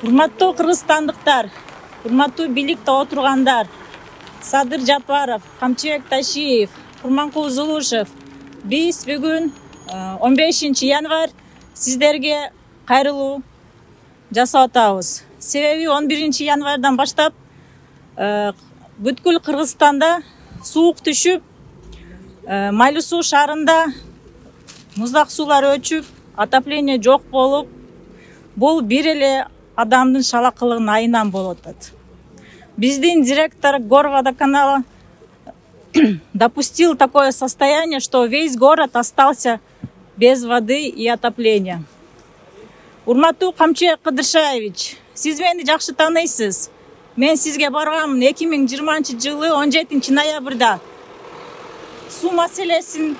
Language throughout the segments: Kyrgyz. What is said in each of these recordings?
Урматтуу кыргызстандыктар, урматтуу бийликте отургандар, Садыр Жапаров, Камчыбек Ташиев, Курманкул Зулушев, биз бүгүн 15 январь сиздерге кайрылуу жасап атабыз. Себеби 11 январдан баштап бүткүл Кыргызстанда суук түшүп, Майлуу суу шаарында муздак суулар өчүп, отопление жок болуп, бул бир эле адамдын шалакылыгынын айынан болуп атат. Биздин директор Горводоканала допустил такое состояние, что весь город остался без воды и отопления. Урматтуу Камчыбек Кыдыршаевич, сиз мени жакшы тааныйсыз. Мен сизге барганмын 2020 жылы 17 ноябрда. Суу маселесин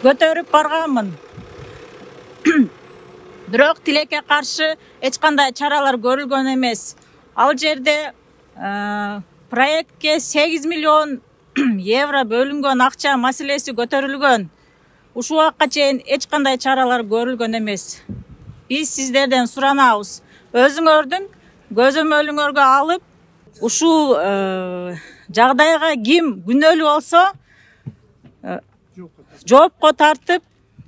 көтөрүп барганмын. Бирок тилекке каршы эч кандай чаралар көрүлгөн эмес. Ал жерде проектке 8 миллион евро бөлүнгөн акча маселеси көтөрүлгөн. Ушул убакка чейин эч кандай чаралар көрүлгөн эмес. Биз сиздерден суранабыз. Өзүңөрдүн көзөмөлүңөргө алып, ушул жагдайга ким күнөөлүү болсо жоопко тартып,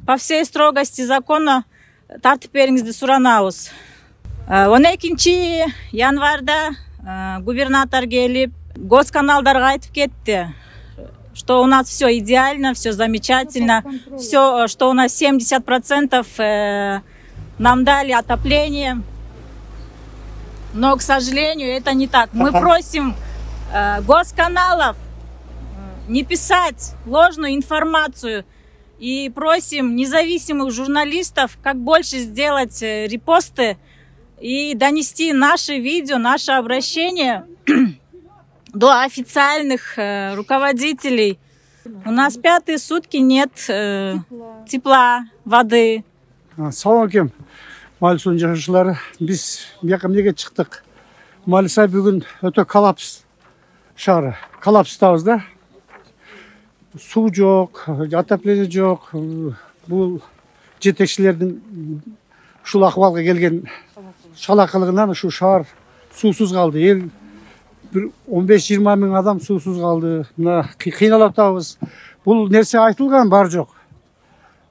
по всей строгости закона тартып бериңизди суранабыз. 12 январда губернатор келип, госканалдарга айтып кетти, что у нас все идеально, все замечательно, все, что у нас 70% нам дали отопление. Но, к сожалению, это не так. Мы просим госканалов не писать ложную информацию и просим независимых журналистов как больше сделать репосты и донести наши видео, наше обращение до официальных руководителей. У нас 5-е сутки нет тепла, воды. Салам алейкум. Майлуу суунун жашоочулары, биз бияка эмнеге чыктык? Майлуу бүгүн өтө коллапс шаары. Коллапстабыз да. Суу жок, отопление жок. Бул жетекчилердин ушул акыбалга келген шалакылыгынан ушу шаар суусуз калды. Эл 15-20 миң адам суусуз калды. Мына кыйналып атабыз. Бул нерсе айтылган бар жок.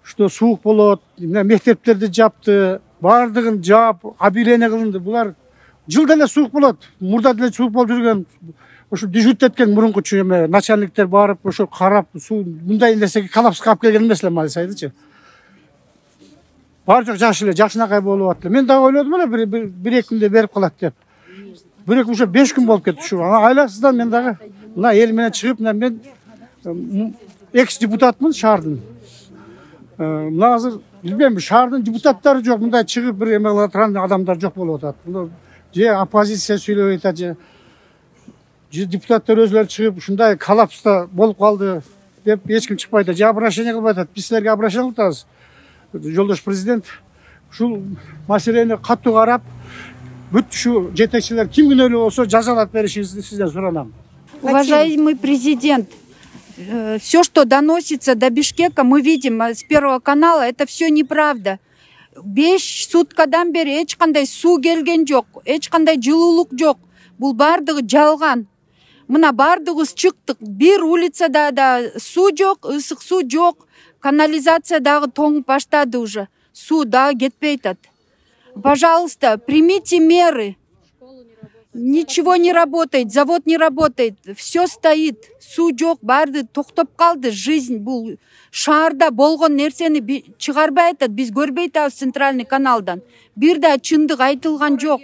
Что суук болот, мектептерди жапты, бардыгын жаап, объявление кылынды. Булар жылда эле суук болот. Мурда деле суук болуп жүргөн. Ошо дежурить эткен мурункучу эме начальниктер барып, ошо карап, суу мындай нерсеге коллапска алып келген эмес эле Малисайдычы. Бар жок жакшы эле, жакшынакай болуп атты. Мен дагы ойлодум эле бир-эки күндө берип калат деп. Бирок уже 5 күн болуп кетти ушу. Айлаксыздан мен дагы мына эл менен чыгып, мен экс депутатмын шаардын. Мына азыр билбейм, шаардын депутаттары жок, мындай чыгып бир эме кыла турган адамдар жок болуп атат. Же оппозиция сүйлөп атат, же депутаттар өзүлөрү чыгып ушундай коллапста болуп калды деп эч ким чыкпайт, же обращение кылбай атат. Биз силерге обращение кылып атабыз. Жолдош президент ушул маселени катуу карап, бүт ушу жетекчилер ким күнөөлүү болсо жазалап беришиңизди сизден суранам. Уважаемый президент, все, что доносится до Бишкека, мы видим с Первого канала, это все неправда. 5 суткадан бери эч кандай суу келген жок, эч кандай жылуулук жок. Бул бардыгы жалган. Мына бардыгыбыз чыктык. Бир улицада да суу жок, ысык суу жок. Канализация дагы тоңуп баштады уже. Суу дагы кетпей атат. Пожалуйста, примите меры. Ничего не работает, завод не работает, все стоит, суу жок, барды токтоп калды. Жизнь бул шаарда болгон нерсени чыгарбай атат, биз көрбөй атабыз центральный каналдан. Бир да чындык айтылган жок.